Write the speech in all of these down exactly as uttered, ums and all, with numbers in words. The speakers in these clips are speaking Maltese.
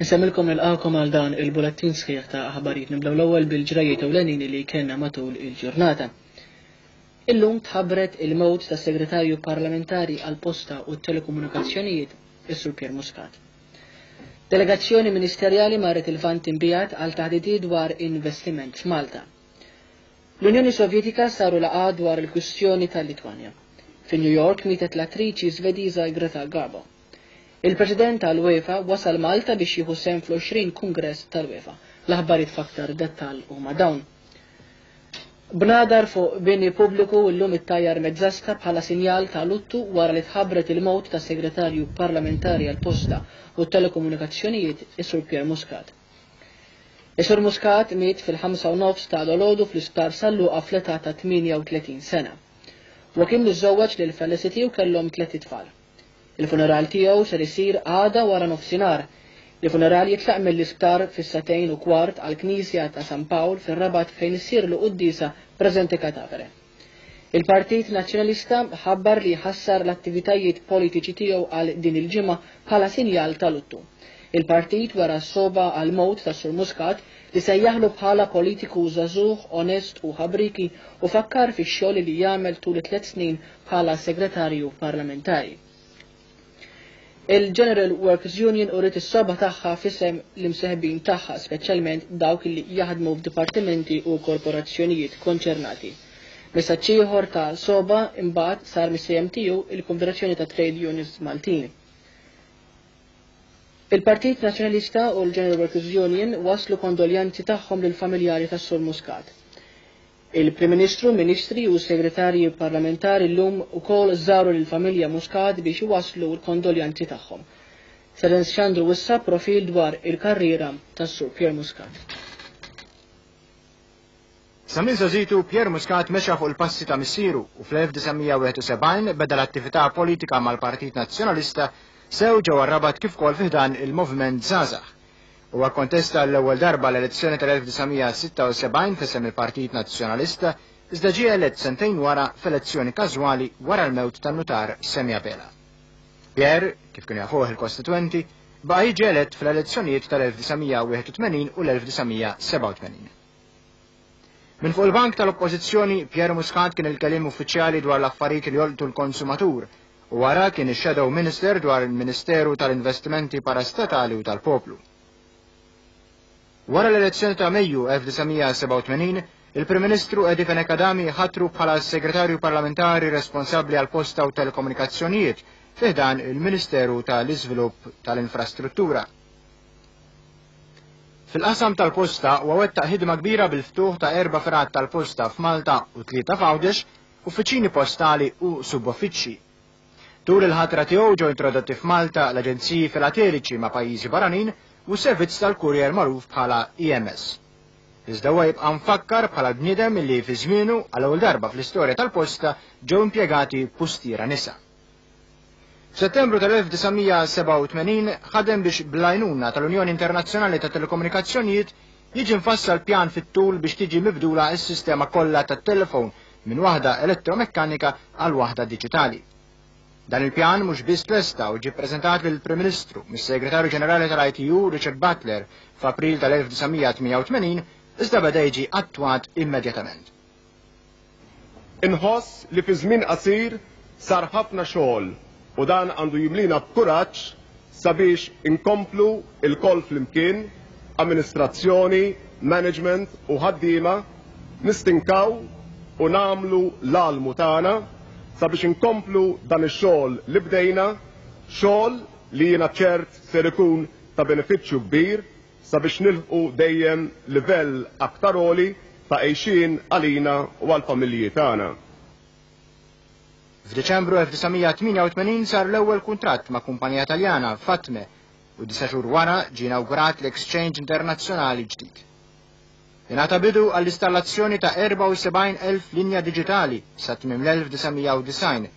Nsemmilkom nilqakom għal dan il-bulettin sħiħ ta' aħbarijiet. Nibdew l-ewwel bil-ġrajiet ewlenin li kellna matul il-ġurnata. Illum tħabbret il-mewt tas segretarju parlamentari għal-posta u telekomunikazzjonijiet, is-Sur Pierre Muscat. Delegazzjoni ministerjali marret il-Lvant Imbiegħed għal taħdidiet dwar investiment f'Malta. L-Unjoni Sovjetika saru laqgħa dwar il-kwistjoni tal-Litwanja. Fi New York mietet l-attriċi Svediża Greta Garbo. Il-President tal-UEFA wasal Malta biex jieħu sehem fl-għoxrin Kungress tal-UEFA. L-aħbarijiet f'aktar dettall huma dawn. Bnadar fuq bini pubbliku llum ittajjar mezzasta bħala sinjal ta' luttu wara li tħabbret il-mewt tas segretarju parlamentari għal-posta u telekomunikazzjonijiet, is-Sur Pierre Muscat. Is-Sur Muscat miet fil-ħamsa u nofs ta' filgħodu fl-isptar San Luqa fl-età ta' tmienja u tletin sena. Huwa kien miżżewweġ lil Felicity u kellhom tliet itfal. Il-funeral tiegħu ser isir għada wara nofsinhar. Il-funeral jitlaq mill-isptar fis-sagħtejn u kwart għal knisja ta' San Pawl fir-Rabat fejn issir l-quddiesa presente cadavere. Il-Partit Nazzjonalista ħabbar li ħassar l-attivitajiet politiċi tiegħu għal din il-ġimgħa bħala sinjal ta' luttu. Il-partit wera s-sogħba għall-mewt ta' Sur Muscat li sejjaħlu bħala politiku żagħżugħ, onest u ħabriki u fakkar fix-xogħol li jagħmel tul tliet snin bħala segretarju parlamentari. Il-General Workers Union uriet is-sogħba tagħha f'isem l-imseħbin tagħha, speċjalment dawk li jaħdmu f'dipartimenti u korporazzjonijiet konċernati. Messaġġ ieħor ta' sogħba imbagħad sar mis-C M T U, il-Konfederazzjoni ta' Trade Unions Maltin. Il-Partit Nazzjonalista u l-General Workers Union waslu kondoljanzi tagħhom lil familjari tas-Sur Muscat. Il-Prim Ministru, Ministri u Segretarji Parlamentari llum ukoll żaru lill-familja Muscat biex iwaslu l-kondoljanzi tagħhom. Ser nxandru issa profil dwar il-karriera tas-Sur Pierre Muscat. Sa minn żgħożitu, Pierre Muscat mexa fuq il-passi ta' missieru u fl-elf disa' mija u wieħed u sebgħin beda l-attività politika mal-Partit Nazzjonalista sew ġewwa Rabat kif ukoll fi ħdan il-Moviment Żgħażagħ. Huwa kontesta l-ewwel darba l-elezzjoni tal-elf disa' mija u sitta u sebgħin f'isem il-Partit Nazzjonalista, iżda ġie elett sentejn wara f'elezzjoni każwali wara l-mewt tan-nutar Sammy Abela. Pierre, kif kienu jafuh il-kostituenti, baqa' jiġi elett fl-elezzjonijiet tal-elf disa' mija u wieħed u tmenin u l-elf disa' mija u sebgħa u tmenin. Minn fuq il-bank tal-Oppożizzjoni, Pierre Muscat kien il-kelliem uffiċjali dwar l-affarijiet li jolqtu l-konsumatur u wara kien ix-Shadow Minister dwar il-Ministeru tal-Investimenti Parastatali u tal-Poplu. Wara l-elezzjoni ta' Mejju elf disa' mija u sebgħa u tmenin, il-Prim Ministru Eddie Fenech Adami ħatru bħala segretarju parlamentari responsabbli għal posta u telekomunikazzjonijiet fi ħdan il-Ministeru tal-Iżvilupp tal-Infrastruttura. Fil-qasam tal-posta huwa wettaq ħidma kbira bil-ftuħ ta' erba' fergħat tal-posta f'Malta u tlieta f'Għawdex, uffiċini postali u subuffiċċji. Tul il-ħatra tiegħu ġew introdotti f'Malta l-aġenziji filateliċi ma' pajjiżi barranin u servizz tal-kurjer magħruf bħala E M S. Iżda huwa jibqa' mfakkar bħala bniedem li fi żmienu għal ewwel darba fl-istorja tal-posta ġew impjegati pustiera nisa. F'Settembru tal-elf disa' mija u sebgħa u tmenin ħadem biex bl-għajnuna tal-Unjoni Internazzjonali ta' Telekomunikazzjonijiet jiġi mfassal pjan fit-tul biex tiġi mibdula s-sistema kollha tat-telefon minn waħda elettromekkanika għal waħda diġitali. Dan il-pjan mhux biss tlesta u ġie ppreżentat lill-Prim Ministru mis-Segretarju Ġenerali tal-I T U Richard Butler f'April tal-elf disa' mija u tmienja u tmenin, iżda beda jiġi attwat immedjatament. Inħoss li fi żmien qasir sar ħafna xogħol u dan għandu jimlina b'kuraġġ sabiex inkomplu lkoll flimkien, amministrazzjoni, management u ħaddiema, nistinkaw u nagħmlu l-almu tagħna sabiex inkomplu dan ix-xogħol li bdejna, xogħol li jiena ċert ser ikun ta' benefiċċju kbir sabiex nilħqu dejjem livell aktar għoli ta' għejxien għalina u għall-familji tagħna. F'Deċembru elf disa' mija u tmienja u tmenin sar l-ewwel kuntratt ma' kumpanija Taljana, Fatme, u disa' xhur wara ġie inawgurat l-Exchange Internazzjonali ġdid. Ingħata bidu għall-installazzjoni ta' erbgħa u sebgħin elf linja diġitali sa tmiem l-elf disa' mija u disgħin,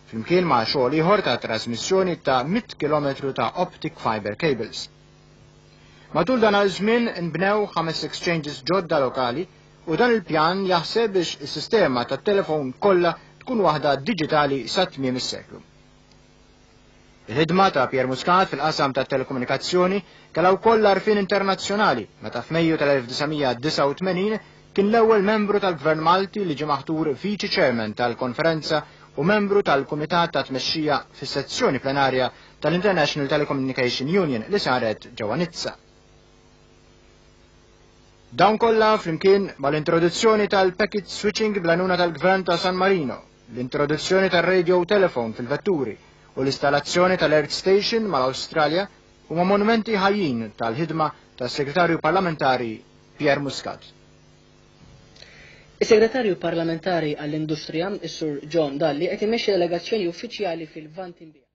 flimkien ma' xogħol ieħor ta' trasmissjoni ta' mitt kilometru ta' optic fiber cables. Matul dan iż-żmien nbnew ħames exchanges ġodda lokali u dan il-pjan jaħseb biex is-sistema tat-telefon kollha tkun waħda diġitali sa tmiem is-seklu. Il-ħidma ta' Pierre Muscat fil-qasam ta' telekomunikazzjoni kellha wkoll għarfien internazzjonali meta f'Mejju tal-elf disa' mija disgħa u tmenin kien l-ewwel membru tal-Gvern Malti li ġie maħtur Viċi Chairman tal-Konferenza u membru tal-Kumitat ta' Tmexxija fis-sezzjoni plenarja tal-International Telecommunication Union li saret ġewwa Nizza. Dawn kollha flimkien mal-introduzzjoni tal-packet switching bl-għajnuna tal-Gvern ta' San Marino, l-introduzzjoni tar-radio telephone fil-vetturi u l-installazzjoni tal-Earth Station mal-Awstralja huma monumenti ħajjin tal-ħidma tas-Segretarju Parlamentari Pierre Muscat. Is-Segretarju Parlamentari għall-Industrija, is-Sur John Dalli, qed imexxi delegazzjoni uffiċjali fil-Lvant Imbiegħed.